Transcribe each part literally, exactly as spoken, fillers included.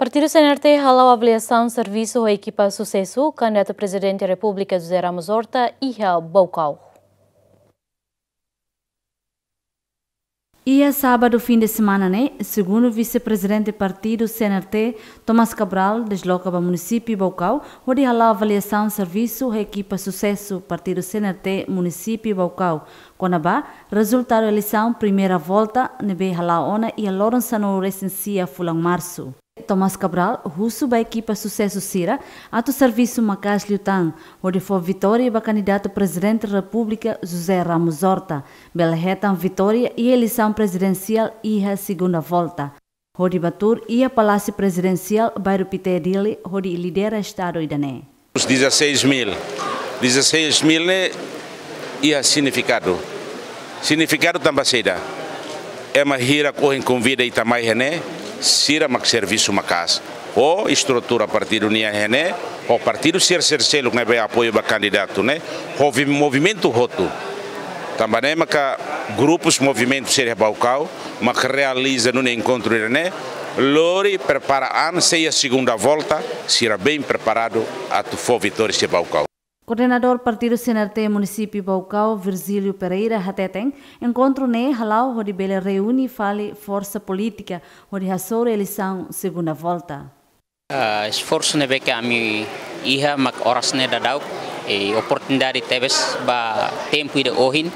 Partidu C N R T hala'o avaliasaun servisu ho ekipa susesu kandidatu Prezidente Repúblika José Ramos Horta iha Baucau. Iha sábadu fim de semana ne'e, segundu vise-prezidente partidu C N R T, Tomás Cabral, desloka ba munisípiu Baucau, hodi hala'o avaliasaun servisu ho ekipa susesu partidu C N R T munisípiu Baucau, kona-ba rezultadu eleisaun primeira volta ne'ebé hala'o ona iha loron sanulu-resin-sia fulan Marsu. Tomás Cabral husu ba ekipa susesu sira atu servisu maka'as liután, hodi fó vitória ba kandidatu Prezidente Repúblika José Ramos Horta, bele hetan vitória iha eleisaun prezidensiál iha segunda volta, hodi bá tuur iha Palásiu Prezidensiál, Bairru Pité, Dili, hodi lidera estadu ida-ne'e. Dezasseis mil. Dezasseis mil ne'e iha signifikadu. Signifikadu tanba saida? Ema hirak ohin konvida ita mai iha ne'e, sira mak servisu maka'as. Ho estrutura partidu nian iha ne'e, ho partidu sira sel-seluk ne'ebé apoiu ba kandidatu ne'e, ho vi-, movimentu hotu. Tanba ne'e maka grupus movimentu sira iha Baucau, mak realiza nune'e enkontru ida-ne'e, lori prepara an sei iha segunda volta, sira bem preparadu atu fó vitória iha Baucau. Koordenadór partidu C N R T munisípiu Baucau, Virgílio Pereira, hateten, enkontru ne'e hala'o hodi bele reúne fali forsa polítika hodi hasoru eleisaun segunda volta. Ah, esforsu ne'ebé ke ami iha mak oras ne'e daudaun, eh, oportunidade tebes ba tempu ida ohin,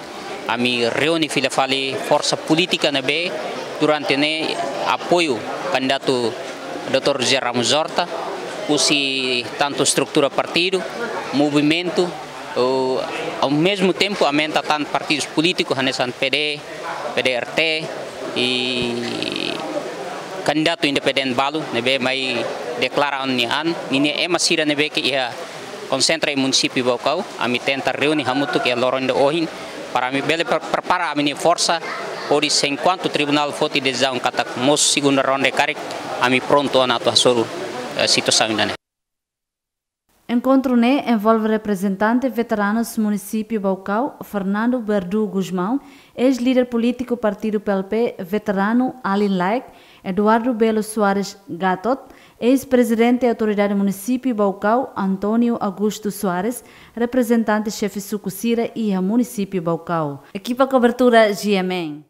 ami reúne fila fali forsa polítika ne'ebé durante ne'e apoiu kandidatu doutór José Ramos Horta, husi tantu estrutura partidu, movimentu, o, ao mesmo tempo aumenta tan partidus polítikus, hanesan P D, P D R T, i kandidatu independente balu, ne'ebé mai deklara an-nia an, ninia ema sira ne'ebé ke iha konsentra iha munisípiu Baucau, ami tenta reúne hamutuk iha loron ida ohin, para ami bele pre-, prepara ami-nia forsa, hodi se enkuantu tribunál foti desizaun katak mosu segunda ronda karik, ami prontu ona atu hasoru, eh, situasaun ida-ne'e. Enkontru ne'e envolve reprezentante veteranus munisípiu Baucau, Fernando Berdu Gusmão, eis-líder polítiku partidu P L P, veteranu Alin Laek, Eduardo Belo Soares Gatot, eis-prezidente Autoridade Munisípiu Baucau, António Augusto Soares, reprezentante xefe suku sira iha munisípiu Baucau. Ekipa kobertura G M N.